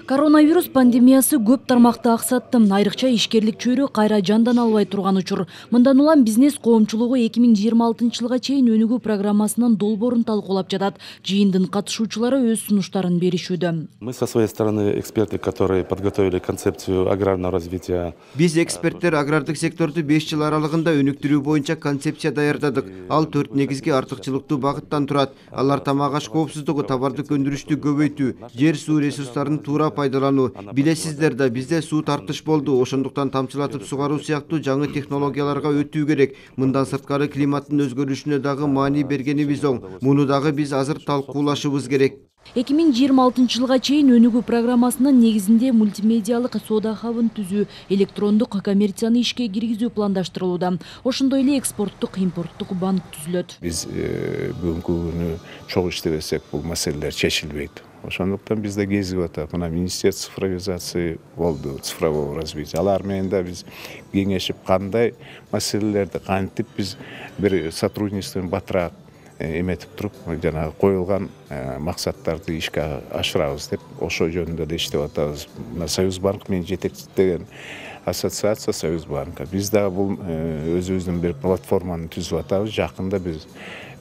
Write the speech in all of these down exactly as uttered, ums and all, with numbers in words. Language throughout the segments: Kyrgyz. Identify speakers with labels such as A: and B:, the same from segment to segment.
A: Коронавирус пандемиясы көп тармакты аксатты. Айрыкча ишкерлик чөйрө кайра жандан албай турган учур. Мындан улам бизнес коомчулугу эки миң жыйырма алтынчы жылга чейин өнүгүү программасынын долбоорун талкуулап жатат. Жыйындын катышуучулары өз сунуштарын беришүүдө.
B: Мы со своей стороны эксперты, которые подготовили концепцию аграрного развития.
C: Биз эксперттер агрардык секторду беш жыл аралыгында өнүктүрүү боюнча концепция даярдадык. Ал төрт негизги артыкчылыктуу багыттан турат. Алар тамак аш коопсуздугу, товардык өндүрүштү көбөйтүү, жер суу ресурстарын туура пайдалануу. Билесиздер да, бизде суу тартыш болду. Ошондуктан тамчылатып сугаруу сыяктуу жаңы технологияларга өтүү керек. Мындан сырткары климаттын өзгөрүшүнө дагы маани бергенибиз оң. Муну дагы биз азыр талкуулашыбыз керек.
A: эки миң жыйырма алтынчы жылга чейин өнүгүү программасынын негизинде мультимедиалык соода хабын түзүү, электрондук коммерцияны ишке киргизүү пландаштырылууда. Ошондой эле экспорттук, импорттук банк түзүлөт.
D: Биз бүгүнкү күнү чогуу иштебесек, бул маселелер чечилбейт. Ошондуктан бизде кезип атат. Мына министерство цифровизации болду, цифрового развития. Алар менен да биз кеңешип, кандай маселелерди кантип биз бир сотрудничествону батыраак эметип туруп, жана коюлган максаттарды ишке ашырабыз деп ошо жөнүндө да иштеп атабыз. Мына Союз банк менен жетектеген ассоциация Союз банка. Биз дагы бул өзүбүздүн бир платформаны түзүп атабыз. Жакында биз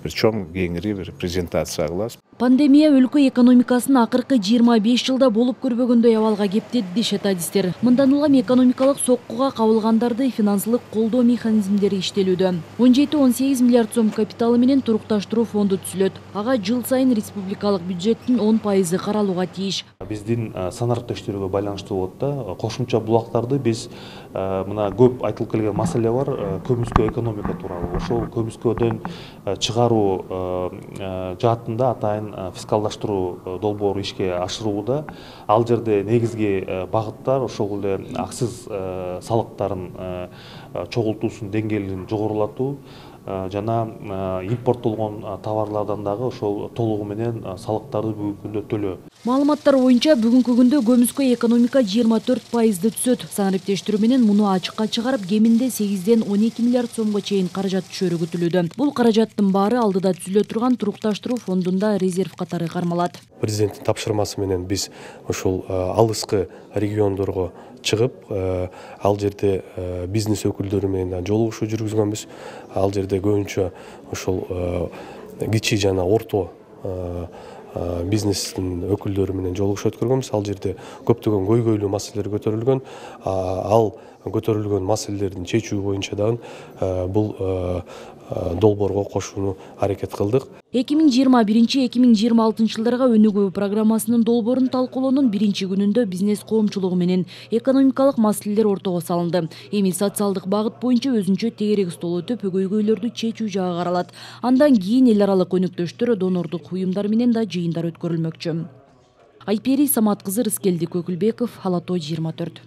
D: бир чоң кеңири бир презентация кылабыз.
A: Пандемия өлкө экономикасын акыркы жыйырма беш жылда болуп көрбөгөндөй абалга кептеди дешет адистер. Мындан улам экономикалык соккуга кабылгандарды финансылык колдоо механизмдери иштелүүдө. он жети он сегиз миллиард сом капиталы менен турукташтыруу фонду түзүлөт. Ага жыл сайын республикалык бюджеттин он пайызы каралууга тийиш.
E: Биздин санариптештөргө байланыштуу болот да. Кошумча булактарды биз мына көп айтылып келген маселе бар, көмүскө экономика тууралуу. Ошол көмүскөдөн чыгаруу жаатында атайын фискалдаштыруу долбоору ишке ашырылууда. Ал жерде негизги багыттар ошол эле аксыз салыктарын чогултуусунун деңгээлин жогорулатуу жана импорттолгон товарлардан дагы ошол толугу менен салыктарды бүгүнкү күндө төлөө.
A: Маалыматтар боюнча бүгүнкү күндө көмүскө экономика жыйырма төрт пайызды түсөт. Санариптештер менен муну ачыкка чыгарып, кеминде сегизден он эки миллиард сомго чейин каражат түшөрү күтүлүүдө. Бул каражаттын баары алдыда түзүлө турган турукташтыруу фондунда резерв катары кармалат.
F: Президенттин тапшырмасы менен биз ошол алыскы региондорго чыгып, ал жерде бизнес өкүлдөрү менен жолугушуу жүргүзгөнбүз. Ал жерде көбүнчө ошол кичи жана орто бизнестин өкүлдөрү менен жолугуш өткөргөнбүз. Ал жерде көптөгөн көйгөйлүү маселелер көтөрүлгөн. Ал көтөрүлгөн маселелердин чечүү боюнча дагы бул долбоорго кошууну аракет кылдык.
A: эки миң жыйырма биринчи эки миң жыйырма алтынчы жылдарга өнүгүү программасынын долбоорун талкуулоонун биринчи күнүндө бизнес коомчулугу менен экономикалык маселелер ортого салынды. Эми социалдык багыт боюнча өзүнчө тегерек стол өтүп, көйгөйлөрдү чечүү жагы каралат. Андан кийин эл аралык өнөктөштөр, донорлук уюмдар менен да жыйындар өткөрүлмөкчү. Айпери Самат кызы, Рыскелди Көкүлбеков, Ала Тоо жыйырма төрт.